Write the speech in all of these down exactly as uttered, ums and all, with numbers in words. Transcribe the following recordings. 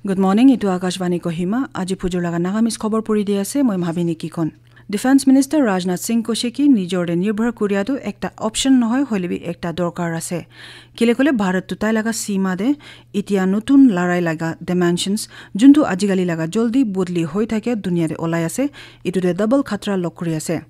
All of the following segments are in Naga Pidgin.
Good morning, itu Akashvani Kohima. Aji phujur laga Nagamese khobor puri di ase, moi Mhabini Kikon. Defense Minister Rajnath Singh koise ki nijor te nirbhar kuria tu ekta option nohoi, hoile bi ekta dorkar ase. Kile kole Bharat tu tai laga sima te itia notun larai laga dimensions, juntu ajikali laga joldi bodli hoi thake dunia te olai ase, itu te double khatra log kuri ase.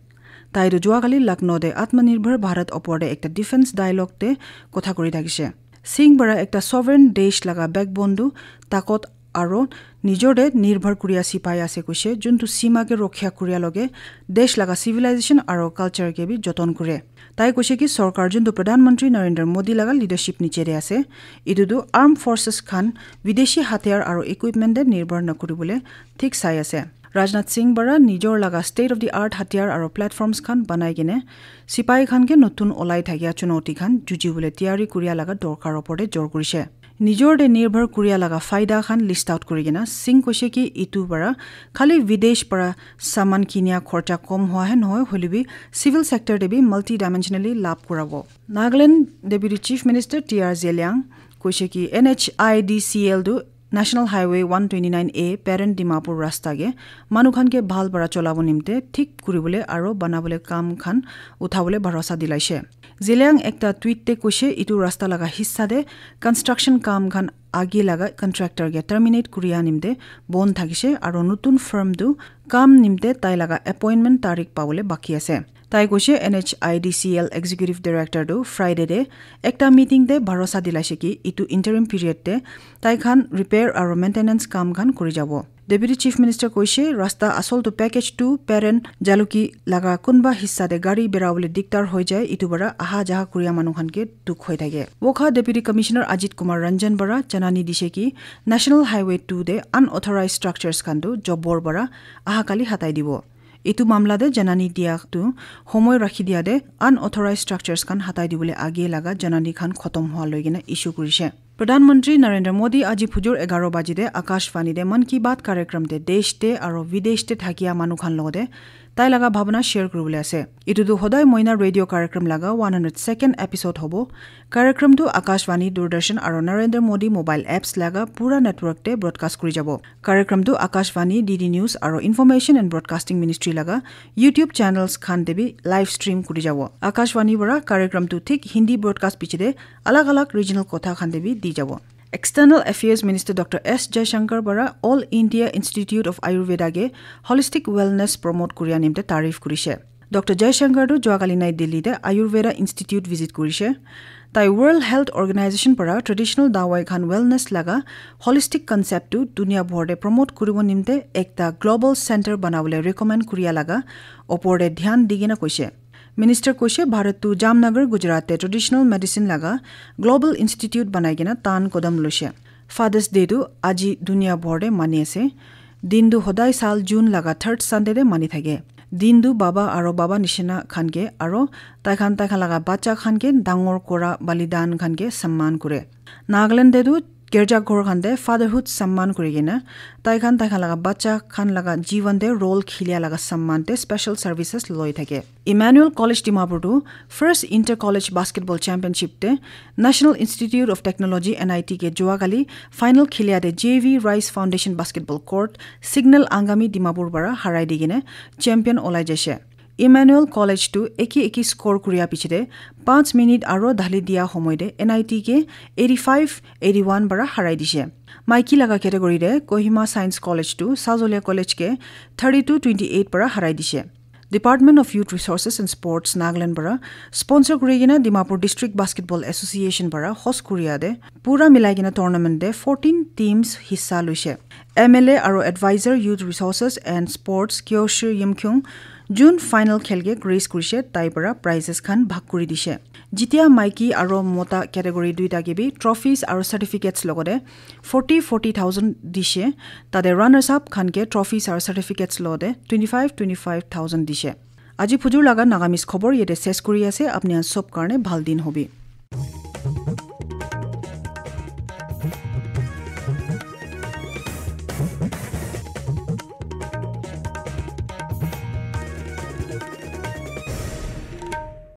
Tai tu juakali Lucknow te Atmanirbhar Bharat opor te ekta defense dialogue te kotha kuri thakise. Singh para ekta sovereign desh laga backbone tu takot aro nijor te nirbhar kuria sipai ase koise, juntu sima ke rokha kuria loge desh laga civilization aro culture ke bi joton kure. Tai koise ki sorkar juntu Pradhan Mantri Narendra Modi laga leadership niche te ase, itu tu armed forces khan videshi hatiyar aro equipment te nirbhar nakuribole thik sai ase. Rajnath Singh para nijor laga state of the art hatiyar aro platforms khan banai kene sipai khan ke notun olai thakia chunauti khan jujibole tiyari kuria laga dorkar opor te jor kurise. Nijor te nirbhar kuria laga faida khan list out kuri kena Singh koise ki itu para khali videsh para saman kinia khorcha kom hua he nohoi, hoile bi civil sector te bi multidimensionally lab kurabo. Nagaland Deputy Chief Minister T R Zeliang koise ki N H I D C L tu National Highway one twenty nine A Peren Dimapur rasta ke manu khan ke bhal para cholabo nimte thik kuribole aro banabole kam khan uthabole bharosa dilaise. Zeliang ekta tweet te koise itu rasta laga hissa te construction kam khan age laga contractor ke terminate kuria nimte bon thakise aro notun firm tu kam nimte tai laga appointment tarik pabole baki ase. Tai koise N H I D C L Executive Director tu Friday te ekta meeting te bharosa dilaise ki itu interim period te tai khan repair aro maintenance kam khan kuri jabo. Deputy Chief Minister koise rasta asol tu package two Peren Jaluki laga kunba hissa te gari berabole diktar hoi jai, itu para aha jaha kuria manu khan ke dukh hoi thake. Wokha Deputy Commissioner Ajit Kumar Ranjan para janani dise ki National Highway two te unauthorized structures khan tu jobor para aha kali hatai dibo. Itu mamla te janani dia tu homoi rakhi dia te unauthorized structures khan hatai dibole age laga janani khan khotom hua loi kena issue kurise. Pradhan Mantri Narendra Modi aji phujur egaro baji te Akashvani te Mann Ki Baat karyakram te desh te aro videsh te thakia manu khan logote tai laga bhabna share kuribole ase. Itu tu hodai moina radio karyakram laga one hundred second episode hobo. Karyakram tu Akashvani, Doordarshan aro Narendra Modi mobile apps laga pura network te broadcast kuri jabo. Karyakram tu Akashvani, D D News aro Information and Broadcasting Ministry laga YouTube channels khan te bi live stream kuri jabo. Akashvani para karyakram tu thik Hindi broadcast piche te alag alag regional kotha khan te bi di jabo. External Affairs Minister Doctor S Jaishankar para All India Institute of Ayurveda ke holistic wellness promote kuria nimte tarif kurise. Doctor Jaishankar tu juakali Nai Delhi te Ayurveda Institute visit kurise. Tai World Health Organization para traditional dawai khan wellness laga holistic concept tu dunia bhor te promote kuribo nimte ekta global center banabole recommend kuria laga opor te dhyan di kena koise. Minister koise Bharat tu Jamnagar, Gujarat te traditional medicine laga global institute banai kena tan kodam loise. Father's Day tu aji dunia bhor te mani ase. Din tu hodai sal June laga third Sunday te mani thake. Din tu baba aro baba nishina khan ke aro tai khan tai khan laga bacha khan ke dangor kora balidan khan ke samman kure. Nagaland te tu girja ghor khan te fatherhood samman kuri kena tai khan tai khan laga bacha khan laga jivan te role khilia laga samman te special services loi thake. Emmanuel College Dimapur tu first inter college basketball championship te National Institute of Technology N I T ke juakali final khilia te J V Rice Foundation basketball court Signal Angami Dimapur para harai di kena champion olai jaise. Emmanuel College tu eki eki score kuria piche te panch minute aro dhali dia homoi te N I T ke eighty five eighty one para harai dise. Maiki laga category te Kohima Science College tu Sazolia College ke thirty two twenty eight para harai dise. Department of Youth Resources and Sports Nagaland para sponsor kuri kena Dimapur District Basketball Association para host kuria te pura milai kena tournament te fourteen teams hissa loise. M L A aro advisor Youth Resources and Sports Kyoshi Yimkyung June final khel ke grace kurise, tai para prizes khan bhag kuri dise. Jitia maiki aro mota category duita ke bi trophies aro certificates logote forty forty thousand dise, tate runners up khan ke trophies aro certificates logote twenty five twenty five thousand dise. Aji phujur laga Nagamese khobor yate ses kuri ase, apni khan sob karne bhal din hobi.